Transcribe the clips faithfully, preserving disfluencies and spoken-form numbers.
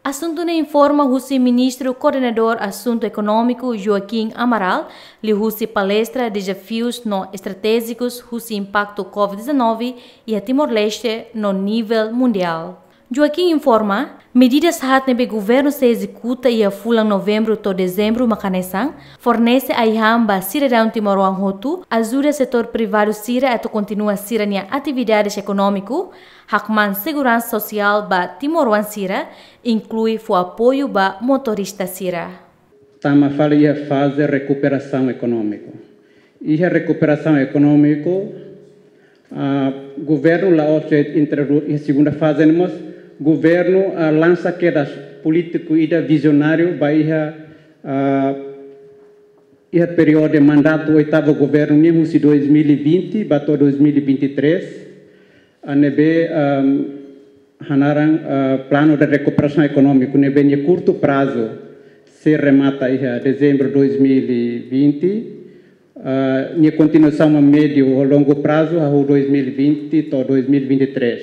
Asuntu ne'e informa husi Ministru Koordenadór Asuntu Ekonómiku Joaquim Amaral, liuhusi palestra Dezafius no Estratéjikus husi Impaktu COVID dezanove iha Timor-Leste no nivel mundiál. Joaquim informa, medidas haat ne'ebé governu sei ezekuta iha fulan Novembru to'o Dezembru mak hanesan: fornese ai-han ba sidadaun timoroan hotu, ajuda setór privadu sira atu kontinua sira-nia atividades ekonómiku, hakmaan seguransa sosiál ba timoroan sira, inklui fó apoiu ba motorista sira. Tama fali iha faze rekuperasaun ekonómiku. Iha rekuperasaun ekonómiku, ah, governu la'ós de'it introdu-, iha segunda faze ne'e mós, governu, ah, lansa kedas polítiku ida vizionáriu ba iha, ah, iha períodu mandatu oitavu governu nian husi dois mil e vinte ba to'o dois mil e vinte e três, ah, ne'ebé, ah, hanaran, ah, planu de rekuperasaun ekonómiku ne'ebé nia kurtu prazu sei remata iha Dezembru dois mil e vinte, ah, nia kontinuasaun médiu ou longu prazu hahú dois mil e vinte to'o dois mil e vinte e três.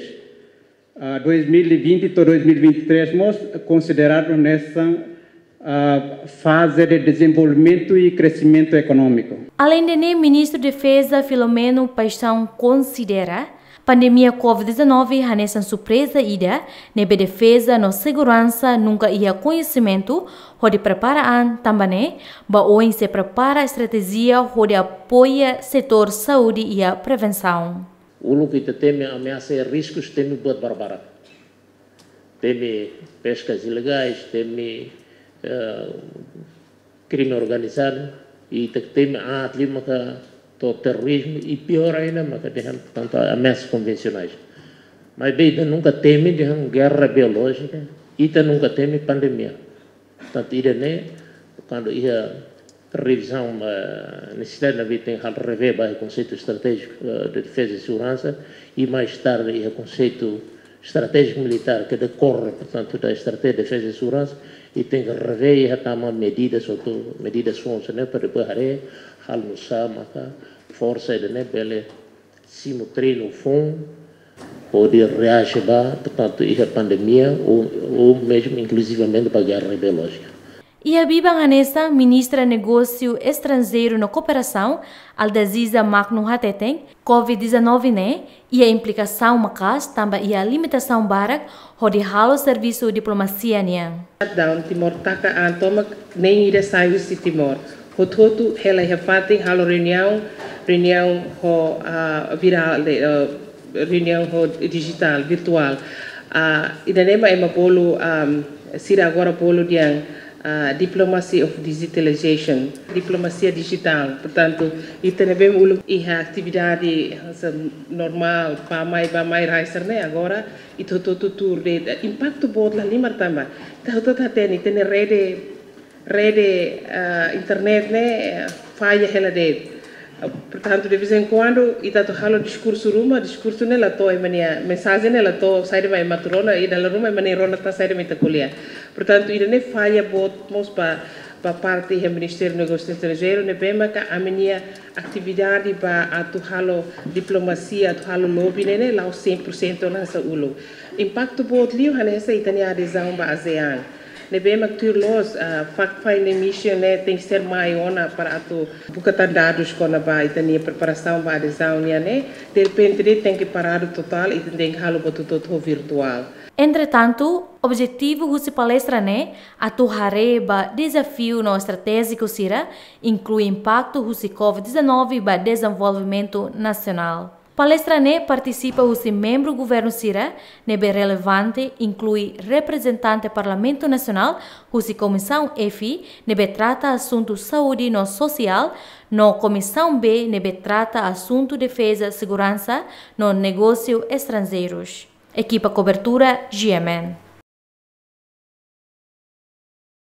Ah, dois mil e vinte to'o dois mil e vinte e três mós konsideradu hanesan, ah, faze de dezenvolvimentu i kresimentu ekonómiku. Aleinde ne'e, Ministru Defeza Filomeno Paixão konsidera pandemia COVID dezanove hanesan surpreza ida ne'ebé defeza no seguransa nunka iha koñesimentu hodi prepara an, tanba ne'e ba oin sei prepara estratéjia hodi apoia setór saúde iha prevensaun. Uluk ita temi ameasa i riskus, temi buat barbarak. Temi peskas ilegais, temi, eh, krime organizadu, i ita temi aat liu maka to'o terrorizmu, i piór ainda maka dehan tantu ameasas konvensionais. Maibé ita nunka temi dehan gerra biolójika, ita nunka temi pandemia. Portantu, ida-ne'e, kuandu iha revizaun, eh, nesesidade ne'ebé tenke halo revee ba konseitu estratéjiku, eh, de defeza i seguransa, i mais tarde iha konseitu estratéjiku militár ke dekorre, portantu, da estratéjia de defeza i seguransa, i tenke revee iha tama medidas, hotu medidas foun sira-ne'e, para depois haree halo nu'usá maka forsa ida-ne'e bele simu treinu foun, hodi reaje ba, portantu, iha pandemia, ou, ou mesmu, inkluzivamente, ba gerra biolójika. Iha biban hanesan, Ministra Negósiu Estranjeiru no Kooperasaun, Aldaziza Magno hateten, COVID dezanove ne'e iha implikasaun maka'as, tanba iha limitasaun barak hodi halo servisu diplomasia nian. Shutdown, Timor taka an tomak, neen ida sai husi Timor. Hotu-hotu hela iha fatin halo reuniaun, reuniaun ho, ah, virtuál, eh, reuniaun ho dijitál, virtuál. Ah, ida-ne'e mak ema bolu, am, sira agora bolu dehan, ah, diplomacy of digitalization, diplomasia dijitál. Portantu, ita ne'ebé uluk iha atividade hanesan normál, bá-mai, bá-mai, rai sira-ne'e, agora ita hotu-hotu tuur de'it. Impaktu boot la halimar tanba ita hotu-hotu hatene, ita-nia rede, rede, ah, internet ne'e, eh, falla hela de'it. Ah, portantu, de vez em quando, ita atu halo diskursu ruma, diskursu ne'e la to'o ema nia, mensajen ne'e la to'o saida mak ema atu rona, i dala ruma ema ne'e rona tan saida mak ita ko'alia. Portantu, ida-ne'e falla boot mós ba, ba parte iha Ministériu Negósiu Estranjeiru, ne'ebé maka ami-nia atividade ba atu halo diplomasia, atu halo lobby ne'e, ne'e la'ós cem por cento hanesan uluk. Impaktu boot liu hanesan ita-nia adezaun ba ASEAN. Ne'ebé mak tuir loos, ah, fact-finding mission ne'e tenke ser mai ona para atu buka tan dadus kona-ba ita-nia preparasaun ba adezaun nian ne'e, derrepente de'it tenke paradu totál, ita tenke halo buat hotu-hotu virtuál. Entretantu, objetivu husi palestra ne'e atu haree ba dezafiu no estratéjiku sira, inklui impaktu husi COVID dezanove ba dezenvolvimentu nasionál. Palestra ne'e partisipa husi membru governu sira ne'ebé relevante, inklui reprezentante Parlamentu Nasionál husi Komisaun F, ne'ebé trata asuntu saúde no sosiál, no Komisaun B, ne'ebé trata asuntu defeza, seguransa no negósiu estranjeirus. Ekipa kobertura, G M N.